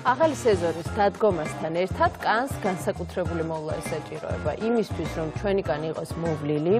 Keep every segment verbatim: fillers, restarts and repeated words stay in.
ახალი სეზონის დადგომასთან ერთად კანს განსაკუთრებული მოვლა ესაჭიროება იმისთვის, რომ ჩვენი კანი იყოს მოვლილი,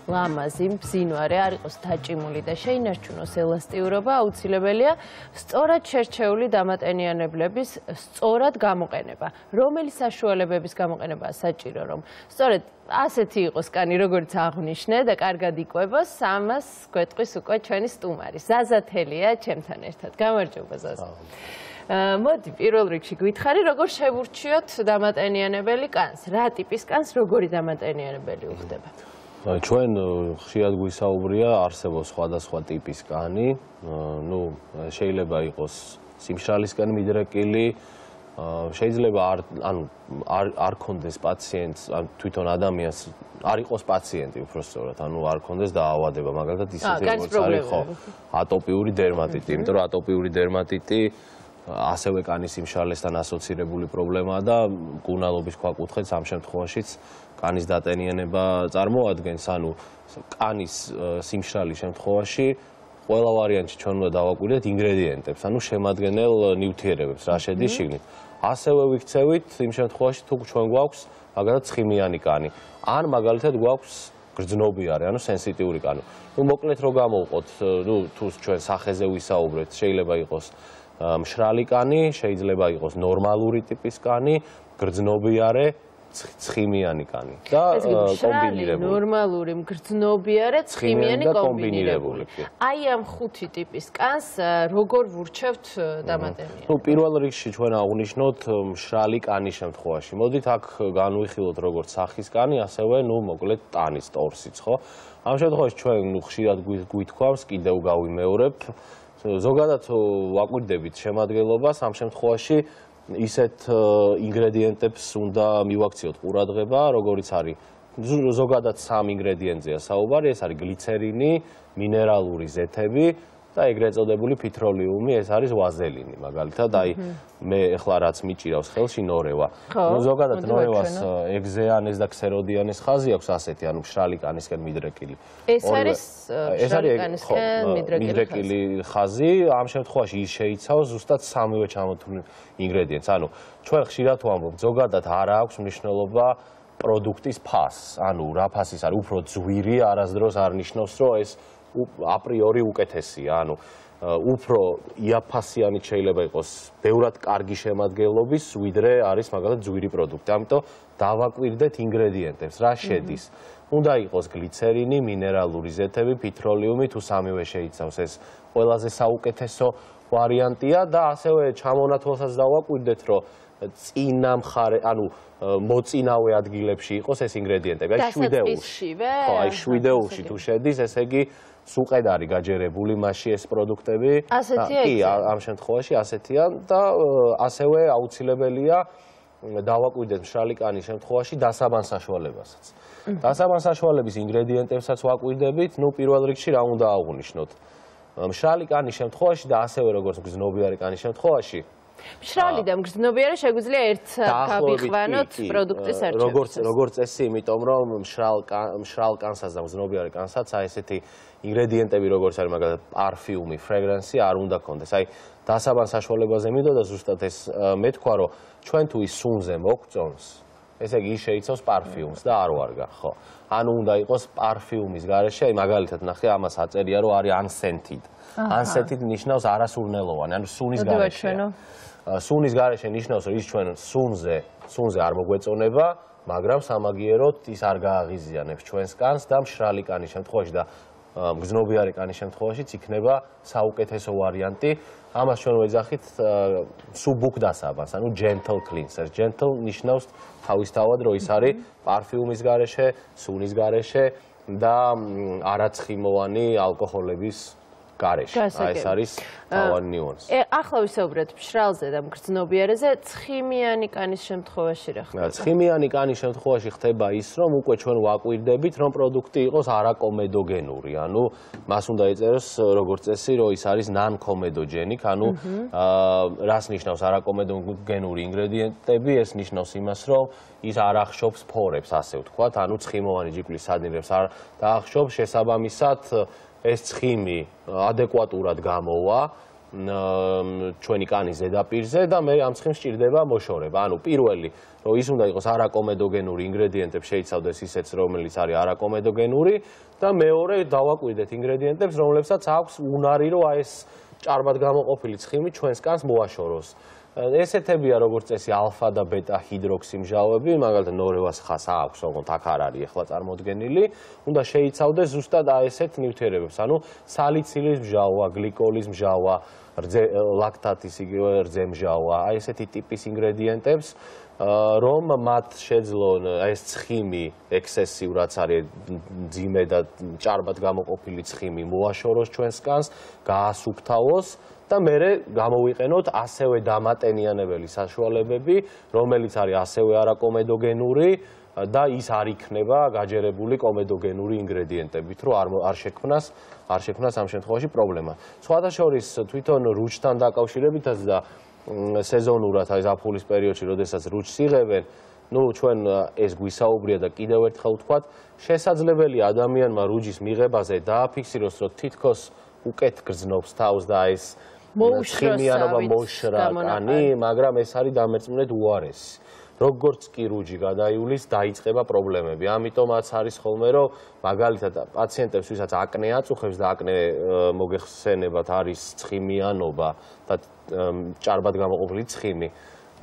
ლამაზი, მბზინვარე, არ იყოს დაჭიმული და შეინარჩუნოს ელასტიურობა, აუცილებელია სწორად შერჩეული დამატენიანებლების სწორად გამოყენება. რომელი საშუალებების გამოყენებაა საჭირო, რომ სწორედ ასეთი იყოს კანი, როგორც აღვნიშნე და კარგად იკვებოს, ამას გვეტყვის უკვე ჩვენი სტუმარი. ზაზა თელია ჩემთან ერთად. გამარჯობა ზაზა. მოდი, პირველ რიგში გითხარი, როგორ შევურჩიოთ დამატენიანებელი კანს? რა ტიპის კანს როგორი დამატენიანებელი უხდება? ჩვენ ხშირად გვისაუბრია, არსებობს სხვადასხვა ტიპის კანი, ну, შეიძლება იყოს სიმშრალისკენ მიდრეკილი, შეიძლება არ ანუ არ არ კონდეს პაციენტს, ან თვითონ ადამიანს არ იყოს პაციენტი უბრალოდ, ანუ არ კონდეს დაავადება, მაგალითად ისეთი როგორც არის ხო, ატოპიური დერმატიტი, იმიტომ რომ ატოპიური დერმატიტი ასევე კანის სიმშრალესთან ასოცირებული პრობლემაა და მკურნალობის ქვაკუთხედს ამ შემთხვევაშიც კანის დატენიანება წარმოადგენს, ანუ კანის სიმშრალის შემთხვევაში ყველა ვარიანტში ჩვენ უნდა დავაკვირდეთ ინგრედიენტებს, ანუ შემადგენელ ნივთიერებებს, რა შედის შიგნით. ასევე ვიქცევით იმ შემთხვევაში, თუ ჩვენ გვაქვს მაგალითად ცხიმიანი კანი, ან მაგალითად გვაქვს გრძნობიარე, ანუ სენსიტიური კანი. ნუ მოკლედ რო გამოვყოთ, ნუ თუ ჩვენ სახეზე ვისაუბრეთ, შეიძლება იყოს მშრალი კანი, შეიძლება იყოს ნორმალური ტიპის კანი, გრძნობიარე, ცხიმიანი კანი და კომბინირებული. ნორმალური, მგრძნობიარე, ცხიმიანი კომბინირებული. აი ამ ხუთი ტიპის კანს როგორ ვურჩევთ დამატენიანებას? ნუ პირველ რიგში ჩვენ აღვნიშნოთ მშრალი კანის შემთხვევაში. მოდით აქ განვიხილოთ როგორც სახის კანი, ასევე ნუ მოკლედ ტანის ტორსიც, ხო? ამ შემთხვევაში ჩვენ ნუ ხშირად გვითქვამს, კიდევ გავიმეორებ, ზოგადად ვაკვირდებით შემადგენლობას, ამ შემთხვევაში ისეთ ინგრედიენტებს უნდა მივაქციოთ ყურადღება, როგორიც არის ზოგადად სამ ინგრედიენტზეა საუბარი, ეს არის გლიცერინი, მინერალური ზეთები და ეგრეთ წოდებული ფიტროლიუმი, ეს არის ვაზელინი, მაგალითად, აი მე ეხლა რაც მიჭირავს ხელში ნორევა. ნუ ზოგადად ნორევას ეგზეანეს და ქსეროდიანეს ხაზი აქვს ასეთი, ანუ მშრალი კანისკენ მიდრეკილი. ეს არის მშრალი კანისკენ მიდრეკილი ხაზი, ამ შემთხვევაში ის შეიცავს ზუსტად სამივე ჩამოთვლილ ინგრედიენტს. ანუ ჩვენ ხშირად ვამბობთ, ზოგადად არ აქვს მნიშვნელობა პროდუქტის ფასს, ანუ რა ფასის არის, უფრო ძვირი არასდროს არ ნიშნავს, რომ ეს აპრიორი უკეთესია, ანუ უფრო იაფასიანი შეიძლება იყოს ბევრად კარგი შემადგენლობის, ვიდრე არის მაგალითად ძვირი პროდუქტი. ამიტომ დავაკვირდეთ ინგრედიენტებს, რა შედის. უნდა იყოს გლიცერინი, მინერალური ზეთები, ფიტროლიუმი, თუ სამივე შეიცავს, ეს ყველაზე საუკეთესო ვარიანტია და ასევე ჩამონათვალსაც დავაკვირდეთ, რომ წინა მხარე, ანუ მოწინავე ადგილებში იყოს ეს ინგრედიენტები, აი შვიდეულში. ხო, აი შვიდეულში თუ შედის, ესე იგი სუყედ არის გაჯერებული მასში ეს პროდუქტები. ასეთია კი, ამ შემთხვევაში ასეთია და ასევე აუცილებელია დავაკვირდეთ მშრალი კანის შემთხვევაში დასაბან საშუალებასაც. დასაბან საშუალების ინგრედიენტებსაც ვაკვირდებით, ნუ პირველ რიგში რა უნდა აღვნიშნოთ. მშრალი კანის შემთხვევაში და ასევე როგორც გრძნობიარე კანის შემთხვევაში მშრალი და მგრძნობიარე შეგვიძლია ერთად გავიყვანოთ პროდუქტის არჩევას. როგორც როგორც წესი, იმიტომ რომ მშრალ მშრალ კანსაც და მგრძნობიარე კანსაც აი ესეთი ინგრედიენტები როგორც არის მაგალითად პარფიუმი, ფრეგრანსი არ უნდა კონდეს. აი დასაბან საშუალებაზე მიდოდა ზუსტად ეს მეთქვა, რომ ჩვენ თუ ის სუნზე მოგწონს, ესე იგი ის შეიცავს პარფიუმს და არ ვარგა, ხო. ანუ უნდა იყოს პარფიუმის გარეშე, აი მაგალითად ნახე, ამას აწერია, რომ არის unscented. unscented ნიშნავს არასურნელოვანი, ანუ სუნის გარეშეა. სუნის გარეშე ნიშნავს, რომ ის ჩვენ სუნზე, სუნზე არ მოგვეწონება, მაგრამ სამაგიეროდ ის არ გააღიზიანებს ჩვენს კანს და მშრალი კანის შემთხვევაში და მგრძნობიარე კანის შემთხვევაშიც იქნება საუკეთესო ვარიანტი. ამას ჩვენ ვეძახით subuk დასაბანს, ანუ gentle cleanser. gentle ნიშნავს თავისთავად, რომ ის არის პარფიუმის გარეშე, სუნის გარეშე და არაცხიმოვანი ალკოჰოლების გარეშე. აი ეს არის თავარი ნიუანსი. ახლა ვისაუბრეთ მშრალზე და მგრძნობიარეზე, ცხიმიანი კანის შემთხვევაში რა ხდება? ცხიმიანი კანის შემთხვევაში ხდება ის, რომ უკვე ჩვენ ვაკვირდებით, რომ პროდუქტი იყოს არაკომედოგენური, ანუ მას უნდა ეწეროს როგორც წესი, რომ ის არის non-comedogenic, ანუ რას ნიშნავს არაკომედოგენური ინგრედიენტები? ეს ნიშნავს იმას, რომ ის არ ახშობს ფორებს, ასე ვთქვათ, ანუ ცხიმოვანი ჯიკლის სადინრებს არ დაახშობს, შესაბამისად ეს ცხიმი ადეკვატურად გამოვა ჩვენი კანის ზედაპირზე და მე ამ ცხიმს სჭირდება მოშორება. ანუ პირველი, რომ ის უნდა იყოს არაკომედოგენური ინგრედიენტები შეიცავდეს ისეც, რომელიც არის არაკომედოგენური და მეორე დავაკვირდეთ ინგრედიენტებს, რომლებსაც აქვს უნარი, რომ აი ეს ჭარბად გამოყოფილი ცხიმი ჩვენს კანს მოაშოროს. ესეთებია როგორც წესი ალფა და ბეტა ჰიდროქსი მჟავები, მაგალითად ნორევას ხას აქვს, ოღონდ აქ არ არის ახლა წარმოდგენილი, უნდა შეიცავდეს ზუსტად აი ესეთ ნივთიერებებს, ანუ სალიცილის მჟავა, გლიკოლის მჟავა, ლაქტატის იგივე რძემჟავა, აი ესეთი ტიპის ინგრედიენტებს, რომ მათ შეძლონ აი ეს ცხიმი ექსესიურად არის ძიმე და ჭარბად გამოყოფილი ცხიმი მოაშოროს ჩვენს კანს, გაასუფთავოს და მერე გამოვიყენოთ ასევე დამატენიანებელი საშუალებები, რომელიც არის ასევე არაკომედოგენური და ის არ იქნება გაჯერებული კომედოგენური ინგრედიენტებით, რომ არ არ შექმნას არ შექმნას ამ შემთხვევაში პრობლემა. სხვათა შორის თვითონ რუჩთან დაკავშირებითაც და სეზონურად აი ზაფხულის პერიოდში, როდესაც რუჩს იღებენ, ну ჩვენ ეს გვისაუბრია და კიდევ ერთხელ ვთქვათ, შესაძლებელია ადამიანმა რუჯის მიღებაზე დააფიქსიროს, რომ თითქოს უკეთ გრძნობს თავს და ეს მოუშროსავით მოშრა კანი, მაგრამ ეს არის დამერწმუნედ უარესი. როგორც კი რუჯი გადაივლის, დაიწყება პრობლემები. ამიტომაც არის ხოლმე, რომ მაგალითად პაციენტებს, ვისაც აკნე აწუხებს და აკნე მოგეხსენებათ არის ცხიმიანობა და ჭარბად გამოყოფილი ცხიმი,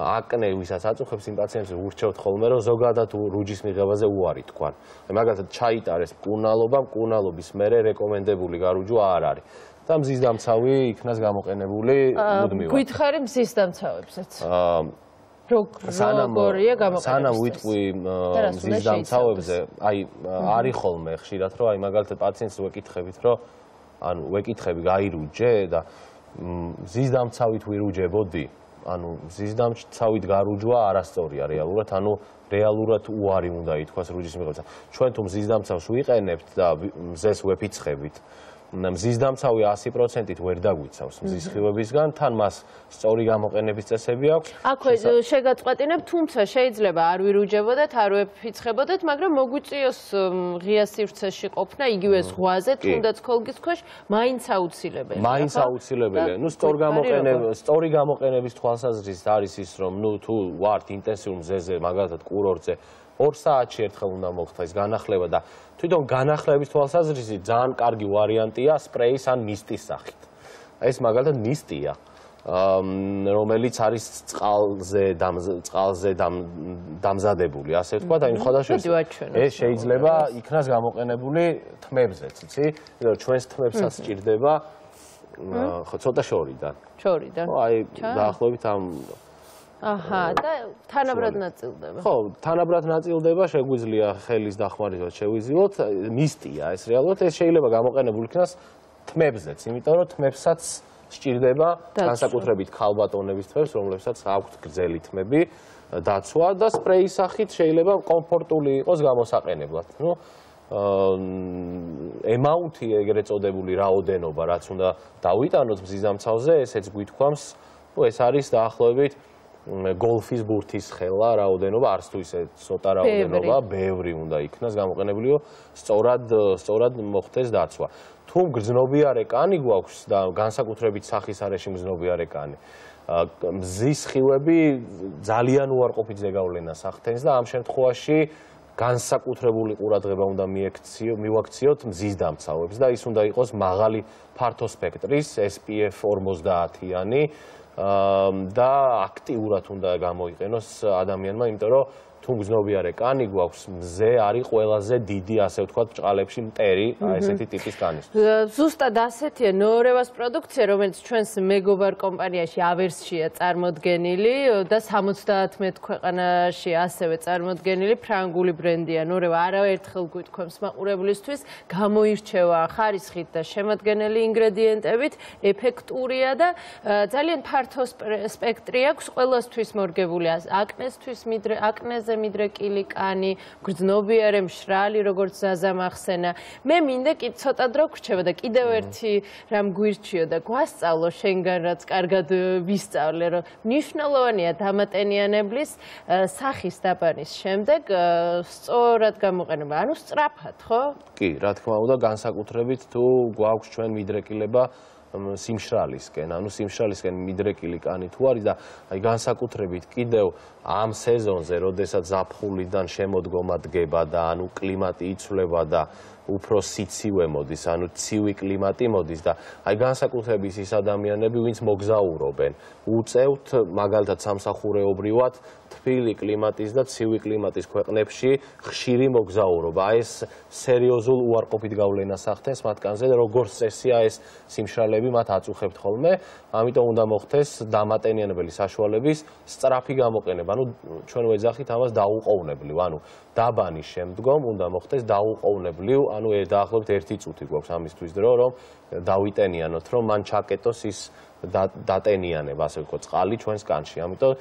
აკნე ვისაც აწუხებს იმ პაციენტებს ურჩევთ ხოლმე, რომ ზოგადად რუჯის მიღებაზე უარი თქვან. მაგალითად ჩაიტარეს მკურნალობა, მკურნალობის მერე რეკომენდებული გარუჯვა არ არის. და მზის დამცავი იქნას გამოყენებული მუდმივად. გითხარი მზის დამცავებსაც. სანამ სანამ ვიტყვი მზის დამცავებზე, აი არის ხოლმე ხშირად, რომ აი მაგალითად პაციენტს ვეკითხებით, რომ ანუ ვეკითხები გაირუჯე და მზის დამცავით ვირუჯებოდი, ანუ მზის დამცავით გარუჯვა არასწორია რეალურად, ანუ რეალურად უარი უნდა ითქვას რუჯის მიღებაზე. ჩვენ თუ მზის დამცავს ვიყენებთ და მზეს ვეფიცხებით, მზის დამცავი ასი პროცენტით ვერ დაგვიცავს მზის სხივებისგან, თან მას სწორი გამოყენების წესები აქვს. აქვე შეგაწყვეტინებ, თუმცა შეიძლება არ ვირუჯებოდეთ, არ ვეფიცხებოდეთ, მაგრამ მოგვიწიოს ღია სივრცეში ყოფნა იგივე ზღვაზე, თუნდაც ქოლგის ქვეშ, მაინც აუცილებელია. მაინც აუცილებელია. ნუ სწორ გამოყენების, სწორი გამოყენების თვალსაზრისით არის ის, რომ ნუ თუ ვართ ინტენსიურ მზეზე, მაგალითად კურორტზე, ორ საათში ერთხელ უნდა მოხდა ეს განახლება და თვითონ განახლების თვალსაზრისით ძალიან კარგი ვარიანტია სპრეის ან მისტის სახით. ეს მაგალითად მისტია, რომელიც არის წყალზე წყალზე დამზადებული, ასე ვთქვათ, აი ხოდაშორის ეს შეიძლება იქნას გამოყენებული თმებზეც, იცი? ჩვენს თმებსაც სჭირდება ცოტა შორიდან. შორიდან. აი დაახლოებით ამ აჰა, და თანაბრად ნაწილდება. ხო, თანაბრად ნაწილდება, შეგვიძლია ხელის დახმარებით შევიზიოთ, მისტია ეს რეალურად, ეს შეიძლება გამოყენებული იქნას თმებზეც, იმიტომ რომ თმებსაც სჭირდება განსაკუთრებით ქალბატონების თმებს, რომლებსაც აქვთ გრძელი თმები, დაცვა და სპრეის სახით შეიძლება კომფორტული იყოს გამოსაყენებლად. ნუ ემაუნთი ეგრეთ წოდებული რაოდენობა, რაც უნდა დავიტანოთ მზის დამცავზე, ესეც გვითქვამს, ნუ ეს არის დაახლოებით გოლფის ბურთის ხელა რაოდენობა, არც თუ ისე ცოტა რაოდენობა, ბევრი უნდა იქნას გამოყენებული, რომ სწორად სწორად მოხდეს დაცვა. თუ გრძნობიარე კანი გვაქვს და განსაკუთრებით სახის არეში მგრძნობიარე კანი, მზის სხივები ძალიან უარყოფით ზეგავლენას ახდენს და ამ შემთხვევაში განსაკუთრებული ყურადღება უნდა მივაქციოთ მზის დამცავებს და ის უნდა იყოს მაღალი ფართო სპექტრის S P F ორმოცდაათიანი და აქტიურად უნდა გამოიყენოს ადამიანმა, იმიტომ რომ თუ გრძნობიარე კანი გვაქვს, მზე არის ყველაზე დიდი, ასე ვთქვათ, ბრჭყალებში მტერი, აი ესეთი ტიპის კანის. ზუსტად ასეთია ნორევას პროდუქცია, რომელიც ჩვენს მეგობარ კომპანიაში ავერსშია წარმოდგენილი და სამოცდაათმეტ ქვეყანაში ასევე წარმოდგენილი ფრანგული ბრენდია ნორევა. არაერთხელ გვითქვამს მაყურებლისთვის, გამოირჩევა ხარისხით და შემადგენელი ინგრედიენტებით, ეფექტურია და ძალიან ფართო სპექტრი აქვს, ყველასთვის მორგებული, აკნესთვის, აკნეზე მიდრეკილი კანი, გრძნობიარე მშრალი, როგორც ზაზამ ახსენა. მე მინდა კი ცოტა დრო გრჩება და კიდევ ერთი რამ გვირჩიო და გვასწავლო შენგან, რაც კარგად ვისწავლე, რომ მნიშვნელოვანია დამატენიანებლის სახის დაბანის შემდეგ სწორად გამოყენება, ანუ სწრაფად, ხო? კი, რა თქმა უნდა, განსაკუთრებით თუ გვაქვს ჩვენ მიდრეკილება სიმშრალისკენ, ანუ სიმშრალისკენ მიდრეკილი კანი თუ არის და აი განსაკუთრებით კიდევ ამ სეზონზე, როდესაც ზაფხულიდან შემოდგომა დგება და ანუ კლიმატი იცვლება და უფრო სიცივე მოდის, ანუ ცივი კლიმატი მოდის და აი განსაკუთრებით ის ადამიანები, ვინც მოგზაურობენ, უწევთ მაგალითად სამსახურეობრივად თბილი კლიმატის და ცივი კლიმატის ქვეყნებში ხშირი მოგზაურობა. აი ეს სერიოზულ უარყოფით გავლენას ახდენს მათგანზე, როგორც წესია ეს სიმშრალეები მათ აწუხებთ ხოლმე, ამიტომ უნდა მოხდეს დამატენიანებელი საშუალების სწრაფი გამოყენება. ანუ ჩვენ ვეძახით ამას დაუყოვნებლივ, ანუ დაბანის შემდგომ უნდა მოხდეს დაუყოვნებლივ, ანუ დაახლოებით ერთი წუთი გვაქვს ამისთვის დრო, რომ დავიტენიანოთ, რომ მან ჩაკეტოს ის დატენიანება, ასე ვთქვათ, წყალი ჩვენს კანში. ამიტომ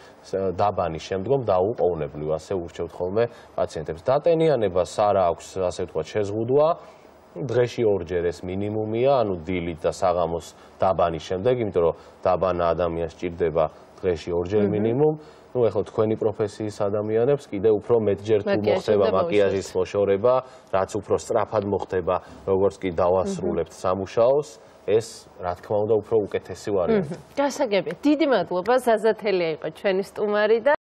დაბანის შემდგომ დაუყოვნებლივ ასე ურჩევთ ხოლმე პაციენტებს. დატენიანებას არ აქვს, ასე ვთქვათ, შეზღუდვა. დღეში ორჯერ ეს მინიმუმია, ანუ დილით და საღამოს დაბანის შემდეგ, იმიტომ რომ დაბანა ადამიანს სჭირდება დღეში ორჯერ მინიმუმ. ну ეხლა თქვენი პროფესიის ადამიანებს კიდე უფრო მეტჯერ თუ მოხდება მაკიაჟის მოშორება, რაც უფრო სწრაფად მოხდება, როგორც კი დავასრულებთ სამუშაოს, ეს რა თქმა უნდა უფრო უკეთესი ვარიანტია. გასაგებია. დიდი მადლობა, ზაზა თელია იყო ჩვენი სტუმარი და